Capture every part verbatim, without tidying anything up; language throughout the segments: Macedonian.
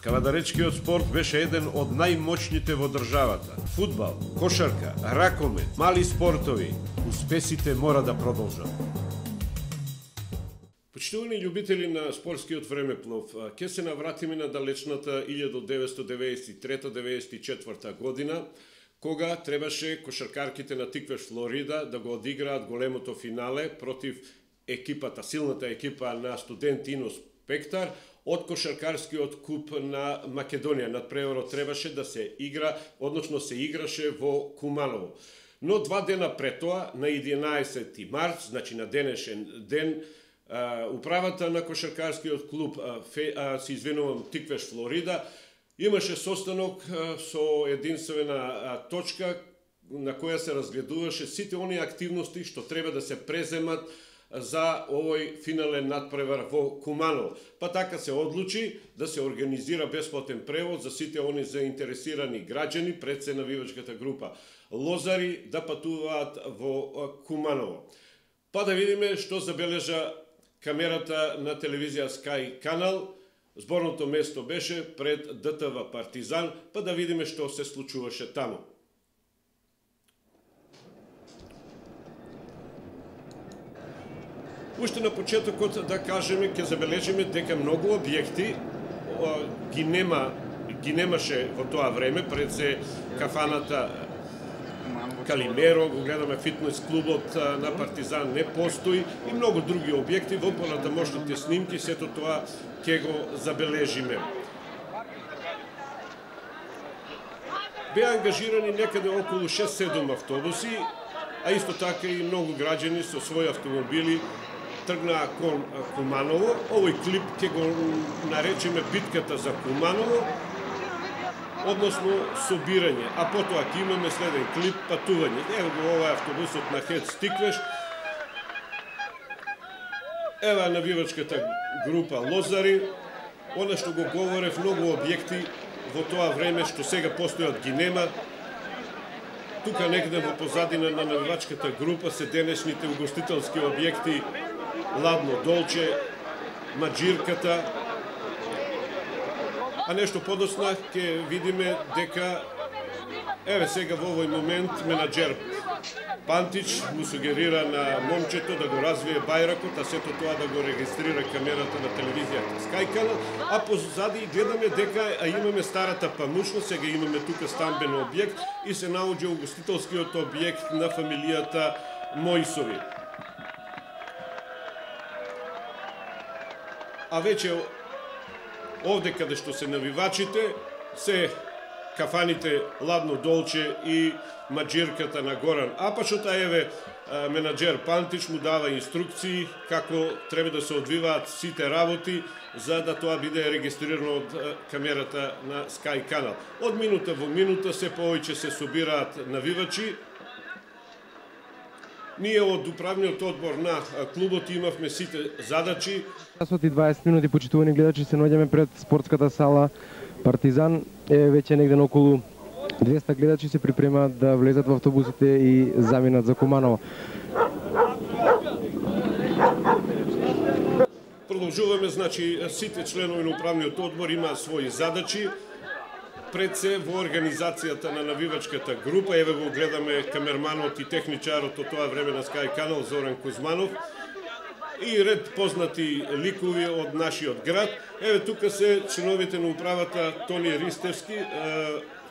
Кавадаречкиот спорт беше еден од најмоćните во државата. Фудбал, кошарка, ракомет, мали спортови, успесите мора да продолжат. Почитувани љубители на спортскиот времеплов, ќе се навратиме на далечната илјада деветстотини деветдесет и трета деветдесет и четврта година, кога требаше кошаркарките на Тиквеш, Флорида, да го одиграат големото финале против екипата, силната екипа на студент Ино Спектар, од кошаркарскиот куп на Македонија. Надпреварот требаше да се игра, односно се играше во Куманово. Но два дена пред тоа, на единаесети март, значи на денешен ден, управата на кошаркарскиот клуб, се извинувам, Тиквеш, Флорида, имаше состанок со единствена точка на која се разгледуваше сите оние активности што треба да се преземат за овој финален надпревар во Куманово. Па така се одлучи да се организира бесплатен превоз за сите они заинтересирани граѓани пред се навивачката група Лозари да патуваат во Куманово. Па да видиме што забележа камерата на телевизија Sky Канал. Зборното место беше пред ДТВ Партизан, па да видиме што се случуваше таму. Уште на почетокот да кажеме, ќе забележиме дека многу објекти ги нема, ги немаше во тоа време, пред се кафаната Калимеро, го гледаме фитнес клубот на Партизан не постои и многу други објекти. Во понатамошните снимки сето тоа ќе го забележиме. Беа ангажирани некаде околу шест-седум автобуси, а исто така и многу граѓани со своји автомобили тргнаа кон Куманово. Овој клип ќе го наречеме битката за Куманово, односно собирање, а потоа ќе имаме следен клип патување. Ево го ова автобусот на Хец Тиквеш. Ева навивачката група Лозари. Она што го говорев, многу објекти во тоа време што сега постојат ги нема. Тука некаде во позадина на навивачката група се денешните угостителски објекти Ладно Долче, Маџирката. А нешто подосна ќе видиме дека еве сега во овој момент менаџер Пантич му сугерира на момчето да го развие бајракот, а сето тоа да го регистрира камерата на телевизијата Sky Канал, а позади гледаме дека а имаме старата памушна, сега имаме тука стамбен објект и се наоѓа угостителскиот објект на фамилијата Мојсови. А веќе овде каде што се навивачите се кафаните Ладно Долче и Маџирката на Горан Апачот, а еве менаџер Пантич му дава инструкции како треба да се одвиваат сите работи за да тоа биде регистрирано од камерата на Sky Канал. Од минута во минута се повеќе се собираат навивачи. Ние од управниот одбор на клубот имавме сите задачи. Часот и дваесет минути, почитувани гледачи, се наоѓаме пред спортската сала Партизан. Е веќе негде на околу двеста гледачи се припремаат да влезат во автобусите и заминат за Куманово. Продолжуваме, значи сите членови на управниот одбор имаат своји задачи. Пред се во организацијата на навивачката група, еве го гледаме камерманот и техничарот од тоа време на Sky Канал Зоран Кузманов и ред познати ликови од нашиот град. Еве тука се членовите на управата Тони Ристевски,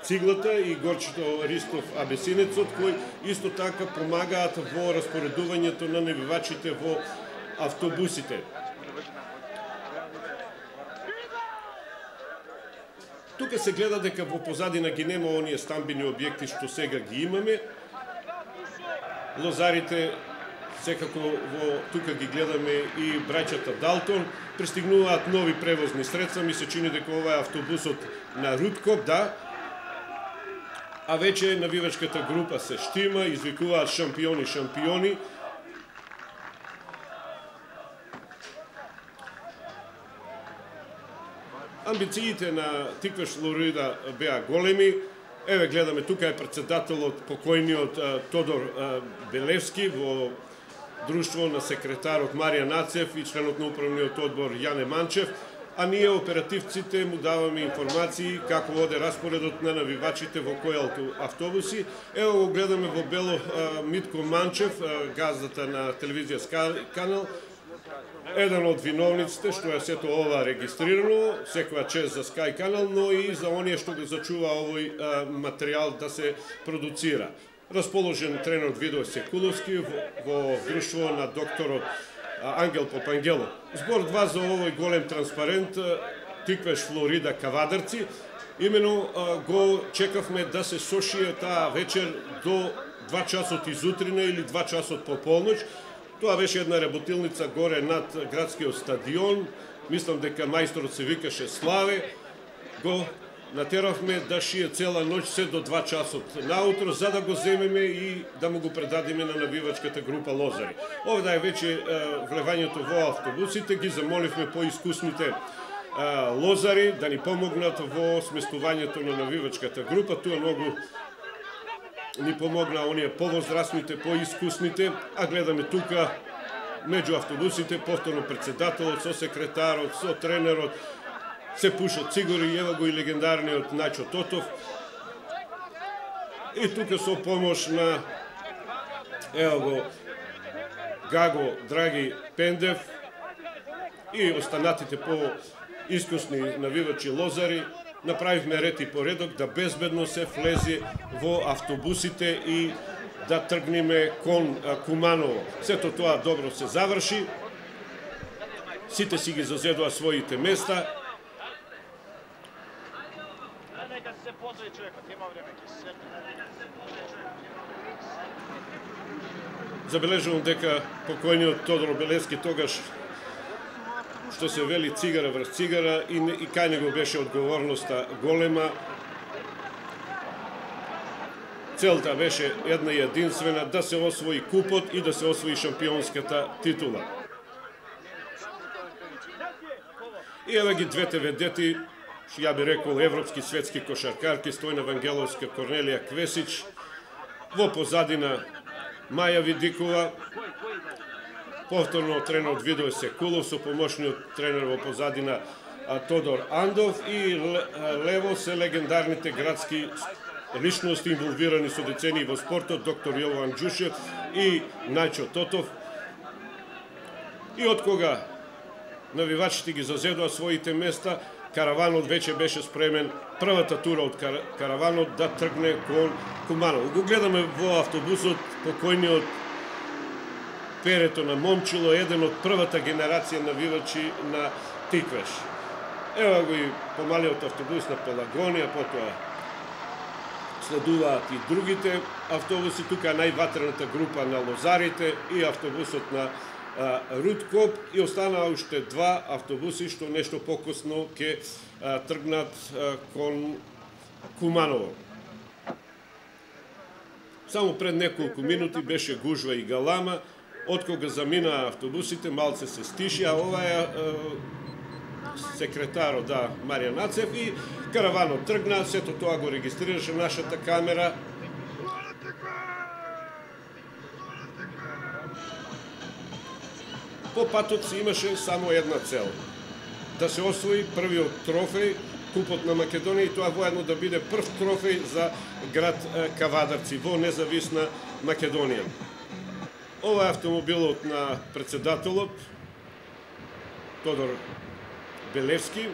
Циглата и Горчето Ристов Абесинецот, кои исто така помагаат во распоредувањето на навивачите во автобусите. Тука се гледа дека во позадина ги нема оние стамбени објекти што сега ги имаме. Лозарите, секако во тука ги гледаме и браќата Далтон, пристигнуваат нови превозни средства, ми се чини дека ова е автобусот на Руткоп, да. А веќе навивачката група се штима, извикуваат шампиони, шампиони. Амбициите на Тиквеш Флорида беа големи. Еве гледаме, тука е председателот покојниот Тодор Белевски во друштво на секретарот Марија Нацев и членот на управниот одбор Јане Манчев. а ние оперативците му даваме информации како воде распоредот на навивачите во кои автобуси. Ево го гледаме во бело Митко Манчев, газдата на телевизија Скај канал, еден од виновниците што е сето ова регистрирано, секоја чест за Скај канал, но и за оние што го зачува овој материјал да се продуцира. Расположен тренерот Видо Секуловски во друштво на докторот Ангел Попангелов. Збор два за овој голем транспарент Тиквеш Флорида Кавадарци. Имено го чекавме да се сошие таа вечер до два часот изутрина или два часот по полноќ. Тоа беше една работилница горе над градскиот стадион. Мислам дека мајсторот се викаше Славе. Го натеравме да шие цела ноќ се до два часот наутро, за да го земеме и да му го предадеме на навивачката група Лозари. Овда е веќе влевањето во автобусите, ги замоливме поискусните Лозари да ни помогнат во сместувањето на навивачката група. Тоа многу ни помогна оние повозрастните, поискусните, а гледаме тука меѓу автобусите повторно председателот со секретарот, со тренерот, се пушат цигори, ева го и легендарниот Најчо Тотов. И тука со помош на ева го Гаго Драги Пендев и останатите по-искусни навивачи Лозари, направивме ред и поредок да безбедно се влезе во автобусите и да тргнеме кон Куманово. Сето тоа добро се заврши. Сите си ги зазедоа своите места. Забележувам дека покојниот Тодор Белевски тогаш, што се вели цигара врз цигара, и, и кај него беше одговорноста голема. Целта беше една и единствена, да се освои купот и да се освои шампионската титула. И еве ги двете ведети, ја би рекол европски светски кошаркарки, Стојна Вангеловска, Корнелија Квесич, во позадина Маја Видикова, повторно тренерот Видо Секулов, со помошниот тренер во позадина Тодор Андов, и лево се легендарните градски личности инволвирани со децении во спортот, доктор Јован Ѓушев и Најчо Тотов. И од кога навивачите ги зазедоа своите места, караванот веќе беше спремен, првата тура од караванот да тргне кон Куманово. Го гледаме во автобусот покојниот Перето на Момчило, еден од првата генерација навивачи на Тиквеш. Ева го и помалиот автобус на Пелагонија, потоа следуваат и другите автобуси. Тука е најватрената група на Лозарите и автобусот на Рудкоп, и останаа уште два автобуси што нешто покосно ќе тргнат кон Куманово. Само пред неколку минути беше гужва и галама, од кога заминаа автобусите малце се стиши, а ова е секретарот, да, Маријан Ацев, и караванот тргна, сето тоа го регистрираше нашата камера. По патот си имаше само една цел: да се освои првиот трофеј, Купот на Македонија, и тоа воедно да биде прв трофеј за град Кавадарци во независна Македонија. Ова е автомобилот на председателот Тодор Белевски.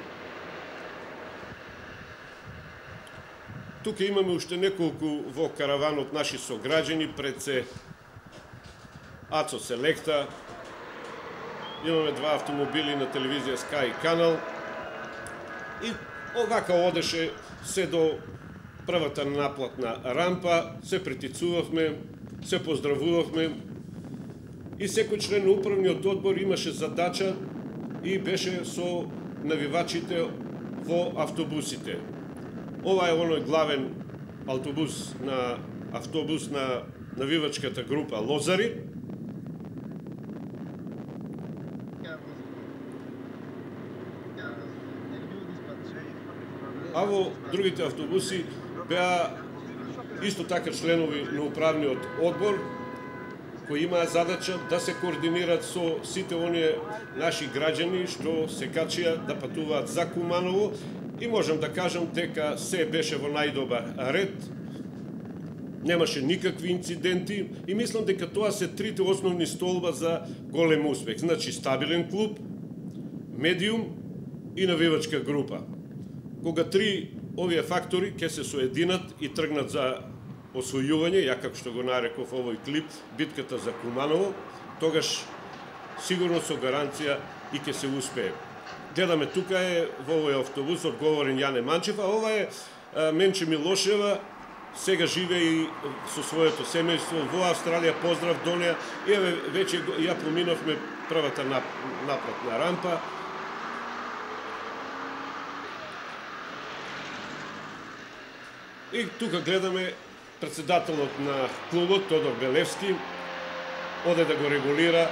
Тука имаме уште неколку во караванот наши сограѓани, пред се Ацо Селекта. Имаме два автомобили на телевизија Скај канал. И овака одеше се до првата наплатна рампа, се притицувавме, се поздравувавме, и секој член на управниот одбор имаше задача и беше со навивачите во автобусите. Ова е оној главен автобус на автобус на навивачката група Лозари. А во другите автобуси беа исто така членови на управниот одбор, кои имаа задача да се координираат со сите оние наши граѓани што се качија да патуваат за Куманово и можам да кажам дека се беше во најдобар ред. Немаше никакви инциденти и мислам дека тоа се трите основни столба за голем успех. Значи стабилен клуб, медиум и навивачка група. Кога три овие фактори ќе се соединат и тргнат за освојување, ја како што го нареков овој клип, битката за Куманово, тогаш сигурно со гаранција и ќе се успее. Гледаме тука е во овој автобус одговорен Јане Манчев, а ова е Менче Милошева, сега живе и со своето семејство во Австралија, поздрав до неа. И еве веќе ја поминовме првата напратна рампа. И тука гледаме председателот на клубот Тодор Белевски оде да го регулира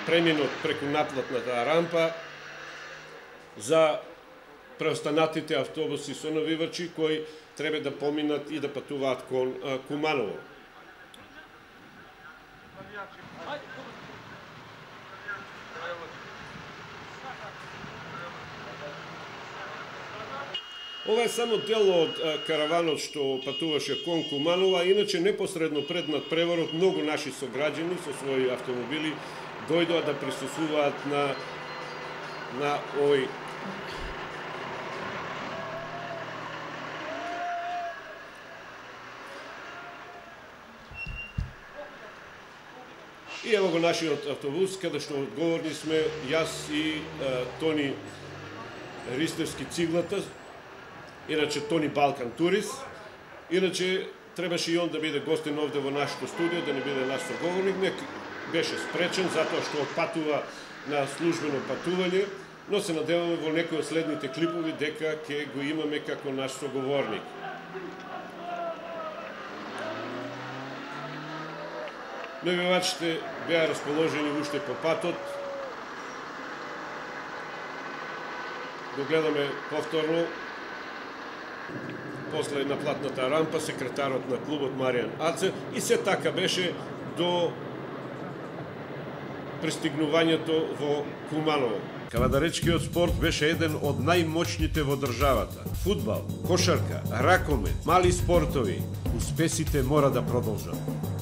преминот преку наплатната рампа за преостанатите автобуси со навивачи кои треба да поминат и да патуваат кон Куманово. Ова е само дел од караванот што патуваше кон Куманово, а иначе непосредно пред надпреворот многу наши сограѓани со своји автомобили дојдоа да присуствуваат на на овој И ево го нашиот автобус, каде што одговорни сме јас и а, Тони Ристевски Циглата, иначе Тони Балкан Турист. Иначе требаше и он да биде гостин овде во нашето студио, да не биде наш соговорник. Не беше спречен затоа што отпатува на службено патување, но се надеваме во некои од следните клипови дека ќе го имаме како наш соговорник. Навивачите беа расположени уште по патот. Го гледаме повторно. После на платната рампа секретарот на клубот Маријан Аце и се така беше до пристигнувањето во Куманово. Кавадаречкиот спорт беше еден од најмоćните во државата. Фудбал, кошарка, ракомет, мали спортови, успесите мора да продолжат.